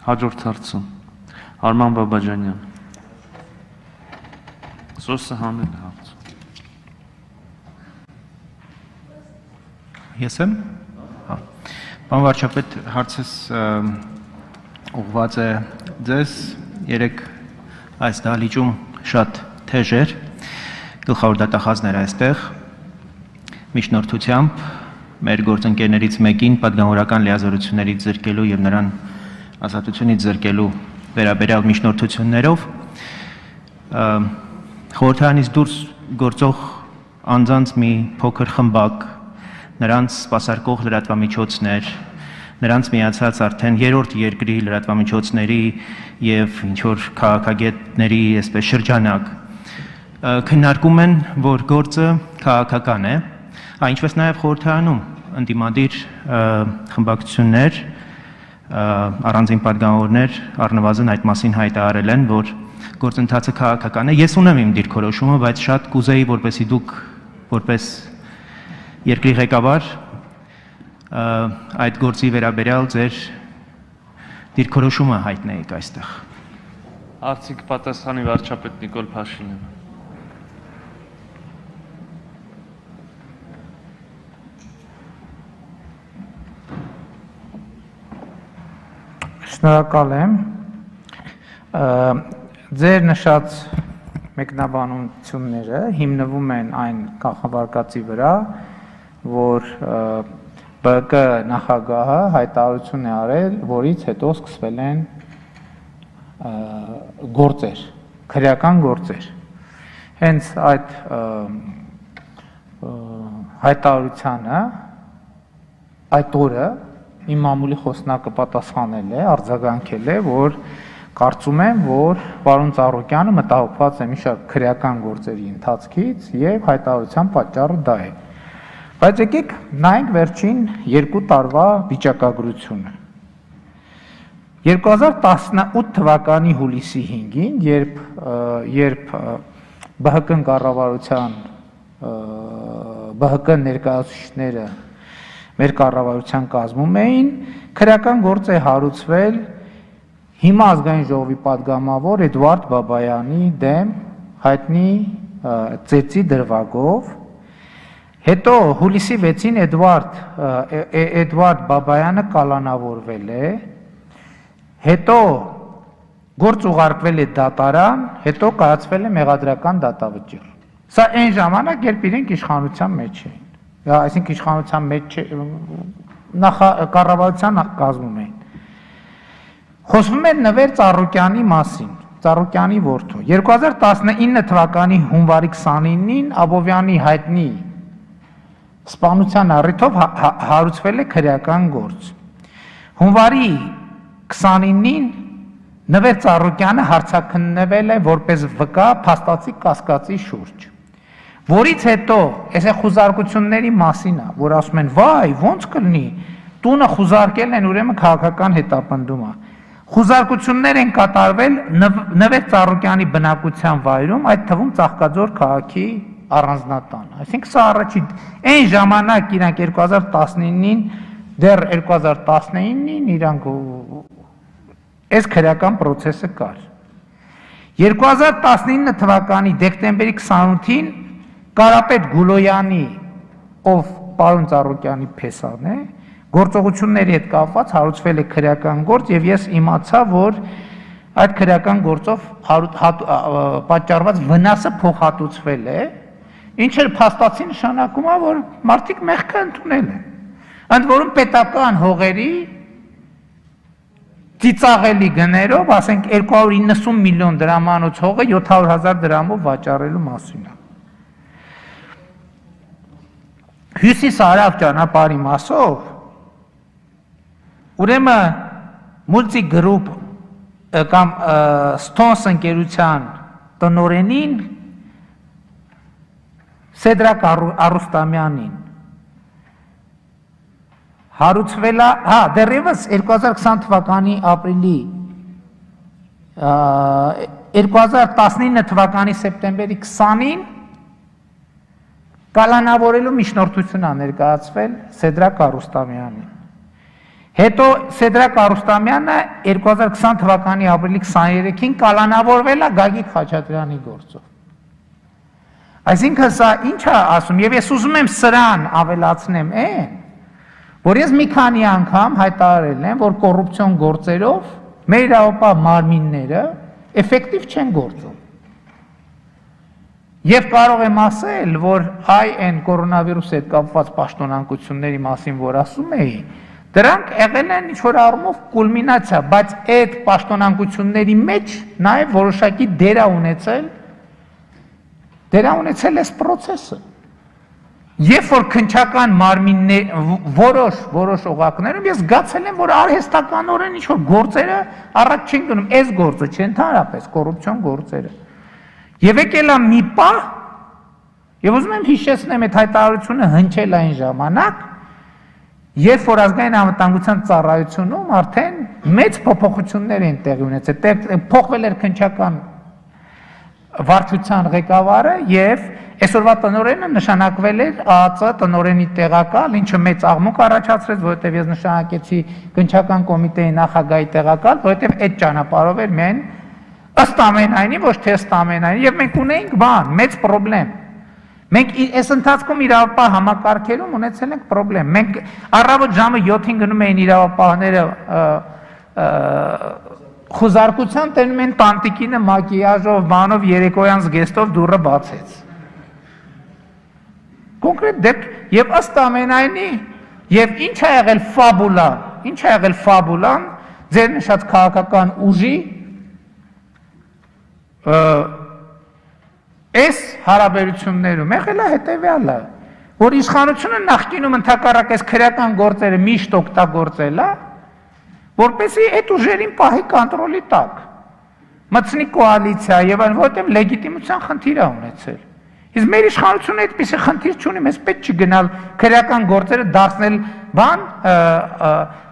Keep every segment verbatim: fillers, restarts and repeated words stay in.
Հաջորդ հարցը Արման Բաբաջանյան Սոսը հանել է հարց Ես եմ Պարոն վարչապետ հարցս ուղղված է ձեզ երեք այս դահլիճում շատ թեժ էր գլխավոր դատախազն էր այստեղ միջնորդությամբ մեր գործընկերներից մեկին պատգամավորական լիազորություններից զրկելու եւ նրան ազատությունից զրկելու վերաբերյալ միջնորդություններով խորհրդարանից դուրս գործող անձանց մի փոքր խմբակ նրանց սպասարկող լրատվամիջոցներ նրանց միացած արդեն երրորդ երկրի լրատվամիջոցների եւ ինչ որ քաղաքագետների այսպես շրջանակ քննարկում են որ գործը քաղաքական է այնպես նաեւ խորհրդարանում ընդդիմադիր խմբակցություններ առանձին պատգամավորներ առնվազն այդ մասին հայտարարել են որ գործընթացը քաղաքական է ես ունեմ իմ դիրքորոշումը բայց շատ կուզեի որպեսզի դուք որպես երկրի ղեկավար այդ գործի վերաբերյալ ձեր դիրքորոշումը հայտնեիք այստեղ Արդյոք պատասխանի վարչապետ Նիկոլ Փաշինյանը Շնորհակալ եմ ձեր նշած մեկնաբանությունները հիմնվում են այն կանխավարկածի վրա որ B K նախագահը հայտարարություն է արել որից հետո սկսվել են գործեր քրեական գործեր հենց այդ հայտարարությանը այդ օրը իմ մամուլի խոսնակը պատասխանել է, արձագանքել է, որ կարծում եմ, որ պարոն Ծառուկյանը մտահոգված է մի շարք քրեական գործերի ընթացքից եւ հայտարարության պատճառը դա է։ Բայց եկեք նայենք վերջին երկու տարվա վիճակագրությունը։ երկու հազար տասնութ թվականի հուլիսի հինգին, երբ երբ B H K կառավարության B H K ներկայացուցիչները մեր կառավարության կազմում էին, քրեական գործ է հարուցվել հիմա ազգային ժողովի պատգամավոր Էդվարդ Բաբայանի դեմ հայտնի ծեծի դրվագով, հետո հուլիսի վեցին Էդվարդ Էդվարդ Բաբայանը կալանավորվել է, հետո գործ ուղարկվել է դատարան, հետո կայացվել է մեղադրական դատավճիռ։ Սա այն ժամանակ, երբ իրենք իշխանության մեջ էին։ Այսինքն իշխանության մեջ կառավարության կազմում էին։ Խոսվում է Նվեր Ծառուկյանի մասին, Ծառուկյանի որդու։ երկու հազար տասնինը թվականի հունվարի քսանինին Աբովյանի հայտնի սպանության առիթով հարուցվել է քրեական գործ։ Հունվարի քսանինին Նվեր Ծառուկյանը հարցաքննվել է որպես վկա փաստացի կասկածի շուրջ։ Որից հետո, այս է խուզարկությունների մասին է, որ ասում են, վայ, ոնց կլինի, տունը խուզարկել են ուրեմն քաղաքական հետապնդում է։ Խուզարկություններ են կատարվել Նվեր Ծառուկյանի բնակության վայրում, այդ թվում Ծաղկաձոր քաղաքի առանձնատանը։ Այսինքն սա առաջի այն ժամանակ իրանք երկու հազար տասնինին, դեռ երկու հազար տասնինին իրանք այս քրեական process-ը կար։ երկու հազար տասնինը թվականի դեկտեմբերի քսանութին Կարապետ Գուլոյանի, ով պարոն Ծառուկյանի փեսան է, գործողությունների հետ կապված հարուցվել է քրեական գործ եւ ես իմացա, որ այդ քրեական գործով պատճառված վնասը փոխհատուցվել է, ինչը փաստացի նշանակում է, որ մարդիկ մեղքը ընդունել են։ Ընդ որում պետական հողերի ծիծաղելի գներով, ասենք երկու հարյուր իննսուն միլիոն դրամանոց հողը յոթ հարյուր հազար դրամով վաճառելու մասին է։ Հյուսիս-հարավ ճանապարհի մասով ուրեմն Multi Group կամ Stones ընկերության տնօրենին Սեդրակ Արուստամյանին հարուցվել է, հա, դեռևս երկու հազար քսան թվականի ապրիլի երկու հազար տասնինը թվականի սեպտեմբերի քսանին կալանավորելու միջնորդություն է ներկայացվել Սեդրակ Արուստամյանին։ Հետո Սեդրակ Արուստամյանը երկու հազար քսան թվականի ապրիլի քսաներեքին կալանավորվել է Գագիկ Խաչատրյանի գործով։ Այսինքն սա ինչ է ասում, եւ ես ուզում եմ սրան ավելացնեմ այն, որ ես մի քանի անգամ հայտարարել եմ, որ կոռուպցիոն գործերով մեր իրավապահ մարմինները էֆեկտիվ չեն գործում։ Եվ կարող եմ ասել, որ այ այն կորոնավիրուսի հետ կապված պաշտոնանկությունների մասին, որ ասում էի, դրանք եղել են ինչ-որ առումով կուլմինացիա, բայց այդ պաշտոնանկությունների մեջ նաև որոշակի դեր է ունեցել, դեր է ունեցել այս process-ը։ Երբ որ քննչական մարմիններ, որոշ որոշ օղակներում ես զգացել եմ, որ արհեստականորեն ինչ-որ գործերը առաջ չեն գնում, այս գործը չէ, ընդհանրապես կոռուպցիոն գործերը։ Եվ եկել է մի պահ, եւ ուզում եմ հիշեցնեմ այդ հայտարարությունը հնչել այն ժամանակ, երբ որ ազգային անվտանգության ծառայությունում արդեն մեծ փոփոխություններ են տեղի ունեցել, փոխվել էր քննչական վարչության ղեկավարը եւ այսօրվա տնօրենը նշանակվել էր ԱԱԾ տնօրենի տեղակալ, ինչը մեծ աղմուկ առաջացրեց, որովհետեւ ես նշանակեցի քննչական կոմիտեի նախագահի տեղակալ, որովհետեւ այդ ճանապարհով էր միայն ըստ ամենայնի, ոչ թե ըստ ամենայնի, եւ մենք ունեինք բան, մեծ խնդրեմ։ Մենք այս ընթացքում իրավապահ համակարգերում ունեցել ենք խնդրեմ։ Մենք առավոտ ժամը յոթին գնում էին իրավապահները խոզարկության տենում են տանտիկինը մակիաժով, բանով, երեկոյան զգեստով դուռը բացեց։ Կոնկրետ դեպք եւ ըստ ամենայնի եւ ինչ է եղել ֆաբուլան, ինչ է եղել ֆաբուլան ձեր նշած քաղաքական ուժի այս հարաբերություններում եղել է հետեւյալը, որ իշխանությունը նախկինում ընդհակառակ այս քրեական գործերը միշտ օգտագործել է, որպեսզի այդ ուժերին պահի կոնտրոլի տակ, մտցնի կոալիցիա եւ այն, որտեղ լեգիտիմության խնդիր է ունեցել։ Իսկ մեր իշխանությունը այդպիսի խնդիր չունի, մեզ պետք չի գնալ քրեական գործերը դարձնել բան,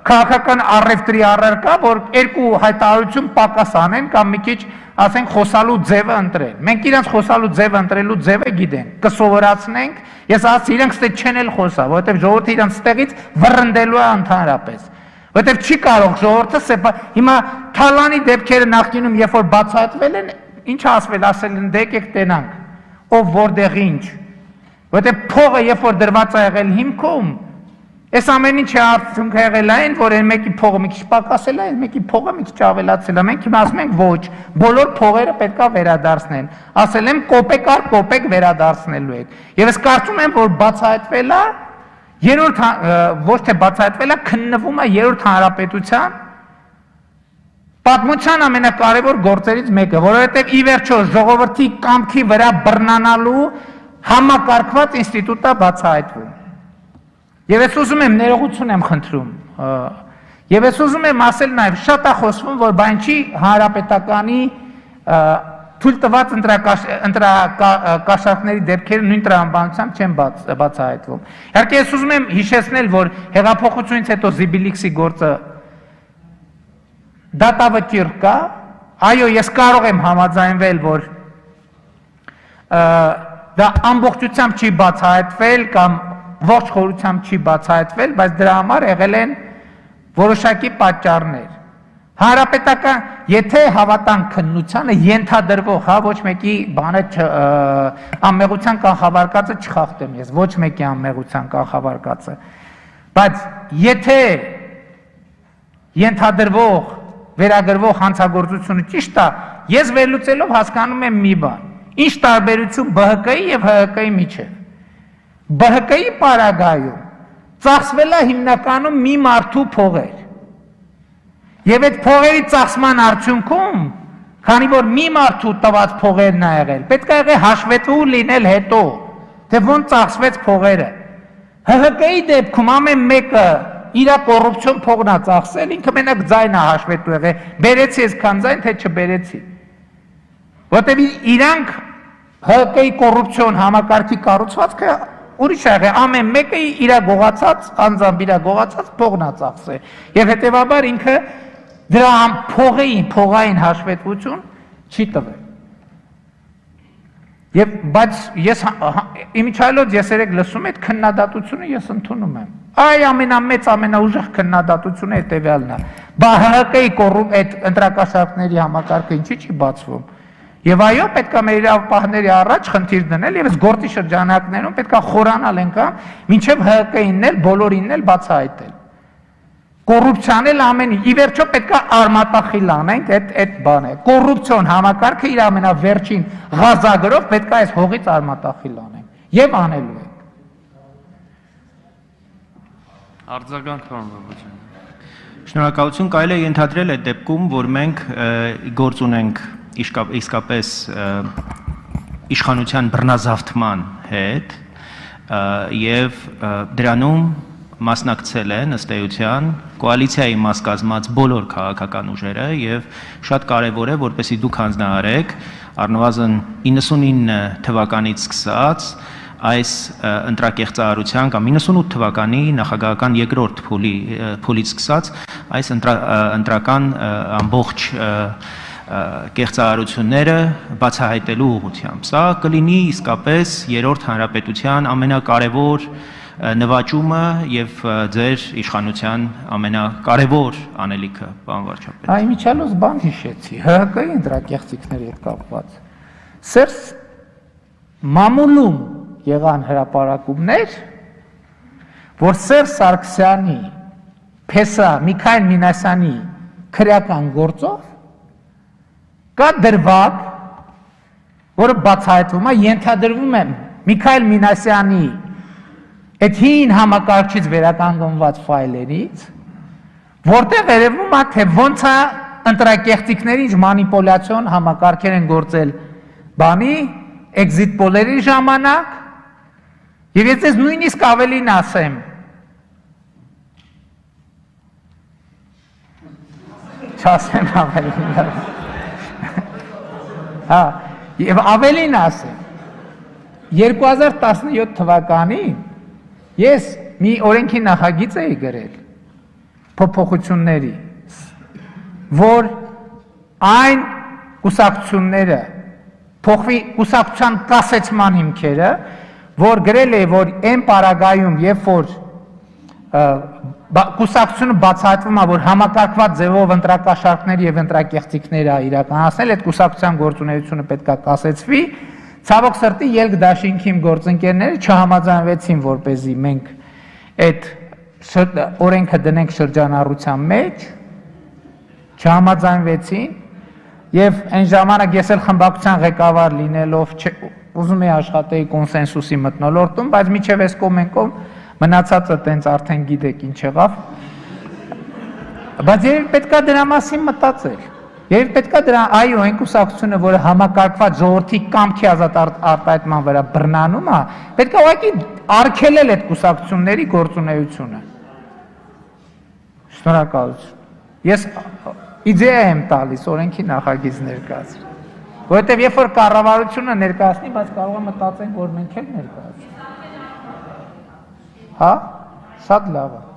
քաղաքական առևտրի առարկա, որ երկու հայտարարություն պակաս անեն կամ մի քիչ ասենք խոսալու ձևը ընտրել։ Մենք իրանց խոսալու ձևը ընտրելու ձևը գիտենք, կսովորացնենք, ես ասացի իրենք ստե չեն էլ խոսա, որովհետև ժողովուրդը իրանց ստեղից վռնդելու է ընդհանրապես։ Որովհետև չի կարող ժողովուրդը հիմա Թալանի դեպքերը նախկինում երբ որ բացահայտվել են, ինչ ասվել, ասել են դե եկեք տենանք, ով որտեղ ինչ։ Որովհետև փողը երբ որ դրված է եղել հիմքում, այս ամեն ինչի արդյունքը եղել է այն, որ այն մեկի փողը մի քիչ պակասել է, այն մեկի փողը մի քիչ ավելացել է։ Մենք հիմա ասում ենք ոչ, բոլոր փողերը պետք է վերադարձնեն։ Ասել եմ կոպեկ առ կոպեկ վերադարձնելու եք։ Եվ ես կարծում եմ, որ բացահայտվել է երրորդ ոչ թե բացահայտվել է, քննվում է երրորդ հանրապետության պատմության ամենակարևոր գործերից մեկը, որովհետև ի վերջո ժողովրդի կամքի վրա բռնանալու համակարգված ինստիտուտ է բացահայտվում։ Եվ ես ուզում եմ ներողություն եմ խնդրում, եւ ես ուզում եմ ասել նաեւ շատ է խոսվում, որ բան չի հանրապետականի թույլ տված ընտրակաշառքների դեպքերը նույն տրամաբանությամբ չեն բացահայտվում։ Իհարկե ես ուզում եմ հիշեցնել, որ հեղափոխությունից հետո Զիբիլիքսի գործը դատավճիռ կա, այո, ես կարող եմ համաձայնվել, որ դա ամբողջությամբ չի բացահայտվել կամ ողջ խորությամբ չի բացահայտվել, բայց դրա համար եղել են որոշակի պատճառներ։ Հանրապետական, եթե հավատանք քննությանը ենթադրվող, հա, ոչ մեկի բանը անմեղության կանխավարկածը չխախտեմ ես, ոչ մեկի անմեղության կանխավարկածը, բայց եթե ենթադրվող, վերագրվող հանցագործությունը ճիշտ է, ես վերլուծելով հասկանում եմ մի բան, ինչ տարբերություն B H K-ի եւ H H K-ի միջեւ։ B H K-ի պարագայում ծախսվել է հիմնականում մի մարդու փողեր։ Եվ այդ փողերի ծախսման արդյունքում, քանի որ մի մարդու տված փողերն ա եղել, պետք է եղել հաշվետվու լինել հետո, թե ոնց ծախսվեց փողերը։ H H K-ի դեպքում ամեն մեկը իր կոռուպցիոն փողն ա ծախսել, ինքը մենակ ձայն ա հաշվետու եղել, բերեցի այսքան ձայն, թե չբերեցի։ Որտեւ իրանք H H K-ի կոռուպցիոն համակարգի կառուցվածքը ուրիշ ա եղել, ամեն մեկը իր գողացած, անձամբ իր գողացած փողն ա ծախսել։ Եվ հետեւաբար ինքը դրա փողային, փողային հաշվետվություն չի տվել։ Եվ բայց ես իմիջիայլոց ես երեք լսում այդ քննադատությունը ես ընդունում եմ։ Այ ամենամեծ ամենաուժեղ քննադատությունը հետևյալն է։ Բա ՀՀԿ-ի այդ ընտրակաշառքների համակարգը ինչի՞ չի բացվում։ Եվ այո, պետք է մեր իրավապահների առաջ խնդիր դնել եւ այս գործի շրջանակներում պետք է խորանալ ենքան, մինչեւ ՀՀԿ-ինն էլ բոլորինն էլ բացահայտել։ Կոռուպցիան էլ ամենի, ի վերջո պետք է արմատախիլ անենք այդ այդ բանը։ Կոռուպցիոն համակարգը իր ամենավերջին ղազագրով պետք է այս հողից արմատախիլ անենք եւ անելու ենք։ Արձագանք պարոն Բաբաջյան։ Շնորհակալություն, կարելի է ենթադրել այդ դեպքում, որ մենք գործ ունենք իսկապես իշխանության բռնազավթման հետ եւ դրանում մասնակցել են ըստ էության կոալիցիայի մաս կազմած բոլոր քաղաքական ուժերը եւ շատ կարեւոր է որպեսզի դուք հանձնարարեք առնվազն իննսունինը թվականից սկսած այս ընտրակեղծարարության կամ իննսունութ թվականի նախագահական երկրորդ փուլի փուլից սկսած այս ընտրական ամբողջ կեղծարարությունները բացահայտելու ուղղությամբ։ Սա կլինի իսկապես երրորդ հանրապետության ամենակարևոր նվաճումը եւ ձեր իշխանության ամենակարևոր անելիքը, պարոն վարչապետ։ Այ միջալոց բան հիշեցի, ՀՀԿ-ի ընտրակեղծիքների հետ կապված։ Սերս մամուլում եղան հրապարակումներ, որ Սերժ Սարգսյանի, Փեսա Միքայել Մինասյանի քրեական գործով կա դրվագ, որը բացահայտվում է, ենթադրվում է Միքայել Մինասյանի այդ հին համակարգչից վերականգնված ֆայլերից, որտեղ երևում է, թե ոնց է ընտրակեղծիքների ինչ մանիպուլյացիոն համակարգեր են գործել բանի, էքզիտ պոլերի ժամանակ, եւ ես ձեզ նույնիսկ ավելին ասեմ, չասեմ ավելին, հա, եւ ավելին ասեմ, երկու հազար տասնյոթ թվականին ես մի օրենքի նախագիծ էի գրել փոփոխությունների, որ այն կուսակցությունները փոխվի կուսակցության կասեցման հիմքերը, որ գրել է, որ այն պարագայում, երբ որ կուսակցությունը բացահայտվում է, որ համակարգված ձևով ընտրակաշառքների եւ ընտրակեղծիքները իրականացնել, այդ կուսակցության գործունեությունը պետք է կասեցվի, ցավոք սրտի ելք դաշինքի իմ գործընկերները չհամաձայնվեցին, որպեսզի մենք այդ օրենքը դնենք շրջանառության մեջ, չհամաձայնվեցին եւ այն ժամանակ ես էլ խմբակցության ղեկավար լինելով ուզում էի աշխատեի կոնսենսուսի մթնոլորտում, բայց միջև այս կոմենկով մնացածը տենց արդեն գիտեք ինչ եղավ, բայց երբ պետք է դրա մասին մտածել, երբ պետք է դրա, այո, այն կուսակցությունը, որը համակարգված ժողովրդի կամքի ազատ արտահայտման վրա բռնանում է, պետք է ուղղակի արգելել այդ կուսակցությունների գործունեությունը։ Շնորհակալություն։ Ես իդեա եմ տալիս օրենքի նախագիծ ներկայացրել, որովհետև երբ որ կառավարությունը ներկայացնի, բայց կարող է մտածենք, որ մենք էլ ներկայացնենք։ Հա, շատ լավ է։